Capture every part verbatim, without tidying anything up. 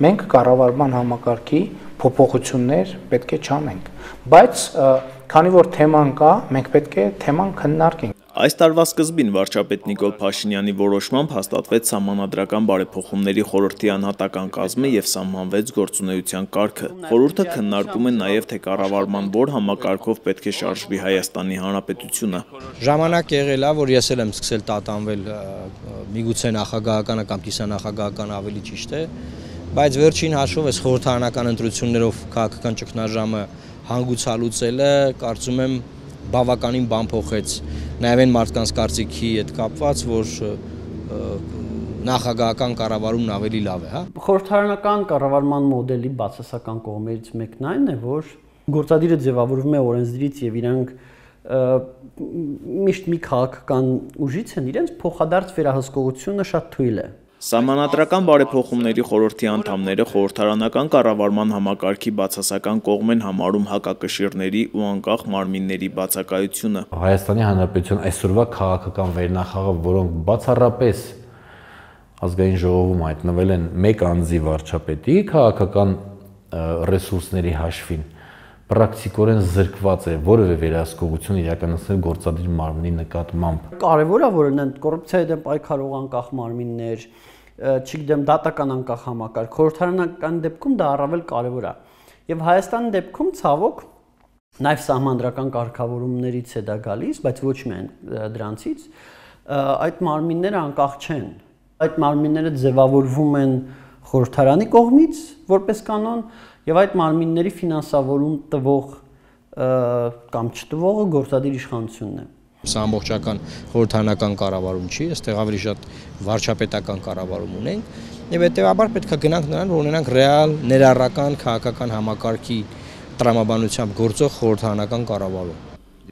մենք կառավարման համակարգի փոփոխություններ պետք է չանենք, բայց քանի որ թեման կա, մենք պետք է թեման քննարկենք։ Այս տարվա սկզբին վարչապետ Նիկոլ Փաշինյանի որոշմամբ հաստատվեց Սահմանադրական բարեփոխումների խորհրդի անհատական կազմը եւ սահմանվեց գործունեության կարգը։ Խորհուրդը քննարկում է նաեւ թե կառավարման որ համակարգով պետք է շարժվի Հայաստանի Հանրապետությունը։ Ժամանակ եղել է, որ ես էլ եմ սկսել տատանվել միգուցե նախագահականը կամ կիսանախագահականը ավելի ճիշտ է, բայց վերջին հաշվով այս խորհրդարանական ընտրություններով քաղաքական ճգնաժամը հանգուցալուծելը կարծում եմ բավականին բան փոխեց նաև այն մարդկանց կարծիքի հետ կապված, որ նախագահական կառավարումն ավելի լավ է, հա։ Խորհրդարանական կառավարման մոդելի բացասական կողմերից մեկն այն է, որ գործադիրը ձևավորվում է օրենսդրից եւ իրանք միշտ մի քաղաքական ուժից են, իրենց փոխադարձ վերահսկողությունը շատ թույլ է։ Սահմանադրական բարեփոխումների խորհրդի անդամները խորհրդարանական կառավարման համակարգի բացասական կողմ են համարում հակակշիռների ու անկախ մարմինների բացակայությունը։ Հայաստանի Հանրապետության այսօրվա քաղաքական վերնախավը, որոնք բացառապես ազգային ժողովում հայտնվել են մեկ անձի վարչապետի քաղաքական ռեսուրսների հաշվին, պրակտիկորեն զրկված է որևէ վերահսկողություն իրականացնել գործադիր մարմնի նկատմամբ։ Կարևոր է, որ կոռուպցիայի դեմ պայքարող անկախ մարմիններ, չգիտեմ, դատական անկախ համակարգ, խորհրդարանական դեպքում դա առավել կարևոր է։ Եվ Հայաստանի դեպքում ցավոք նաև սահմանադրական կարգավորումներից է դա գալիս, բայց ոչ միայն դրանցից, այդ մարմինները անկախ չեն։ Այդ մարմինները ձևավորվում են խորհրդարանի կողմից որպես կանոն եւ այդ մարմինների ֆինանսավորում տվող կամ չտվողը գործադիր իշխանությունն է։ Սա ամբողջական խորհրդարանական կառավարում չի, այստեղ ավելի շատ վարչապետական կառավարում ունենք եւ հետեւաբար պետք է գնանք նրան, որ ունենանք ռեալ ներառական քաղաքական համակարգի տրամաբանությամբ գործող խորհրդարանական կառավարում։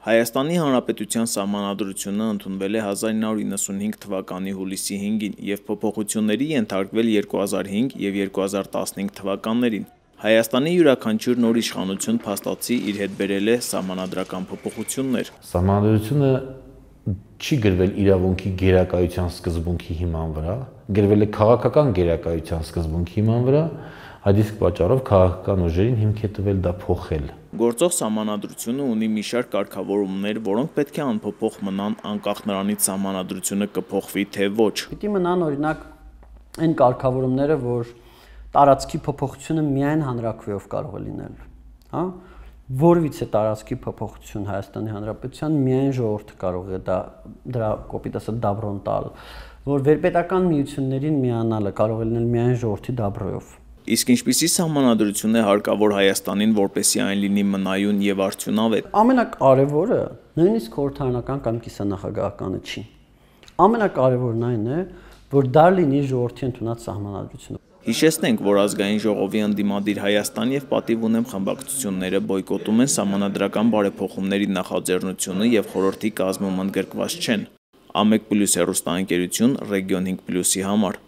Հայաստանի Հանրապետության Սահմանադրությունը ընդունվել է հազար ինը հարյուր իննսունհինգ թվականի հուլիսի հինգին եւ փոփոխությունների ենթարկվել երկու հազար հինգ եւ երկու հազար տասնհինգ թվականներին։ Հայաստանի յուրաքանչյուր նոր իշխանություն փաստացի իր հետ բերել է սահմանադրական փոփոխություններ։ Սահմանադրությունը չի գրվել իրավունքի գերակայության սկզբունքի հիման վրա, գրվել է քաղաքական գերակայության սկզբունքի հիման վրա, այդ իսկ պատճառով քաղաքական ուժերին հիմք է տվել դա փոխել։ Գործող սահմանադրությունը ունի մի շարք կարգավորումներ, որոնք պետք է անփոփոխ մնան անկախ նրանից սահմանադրությունը կփոխվի թե ոչ։ Պիտի մնան օրինակ այն կարգավորումները, որ տարածքի փոփոխությունը միայն հանրաքվեով կարող է լինել, հա։ Որևիցե տարածքի փոփոխություն Հայաստանի Հանրապետության միայն ժողովուրդը կարող է դա դրա կոպիտ ասած դաբրոն տալ, որ վերպետական միություններին միանալը կարող է լինել միայն ժողովրդի դաբրոյով։ Իսկ ինչպիսի սահմանադրություն է հարկավոր Հայաստանին, որպեսզի այն լինի մնայուն եւ արդյունավետ։ Ամենակարևորը նույնիսկ խորհրդարանական կամ կիսանախագահականը չի։ Ամենակարևորն այն է, որ դա լինի ժողովրդի ընդունած սահմանադրությունը։ Հիշեցնենք, որ ազգային ժողովի ընդդիմադիր Հայաստան եւ պատիվ ունեմ խմբակցությունները բոյկոտում են սահմանադրական բարեփոխումների նախաձեռնությունը եւ խորհրդի կազմում ընդգրկված չեն։ Ամեկ պլյուս հեռուստաընկերություն Ռեգիոն հինգ պլյուսի համար։